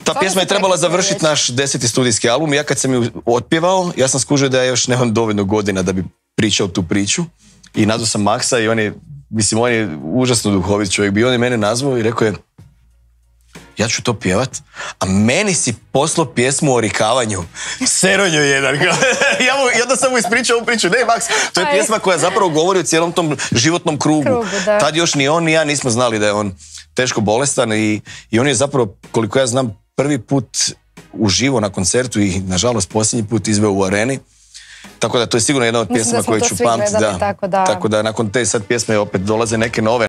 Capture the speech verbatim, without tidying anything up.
Ta pjesma je trebala završiti naš deseti studijski album i ja kad sam ju otpjevao, ja sam skužio da ja još nemam dovoljno godina da bi pričao tu priču i nazvao sam Maksa i on je, mislim, on je užasno duhovit čovjek bio, on je mene nazvao i rekao je ja ću to pjevat, a meni si poslao pjesmu o rikavanju. Seronjo jedan. ja, mu, ja da sam mu ispričao ovu priču. Ne, Maks, to je pjesma koja zapravo govori o cijelom tom životnom krugu. Krugu, tad još ni on ni ja nismo znali da je on teško bolestan i, i on je zapravo, koliko ja znam, prvi put uživo na koncertu i nažalost posljednji put izveo u areni. Tako da to je sigurno jedna od pjesma koje ću pamtiti. Da, tako da... tako da nakon te sad pjesme opet dolaze neke nove.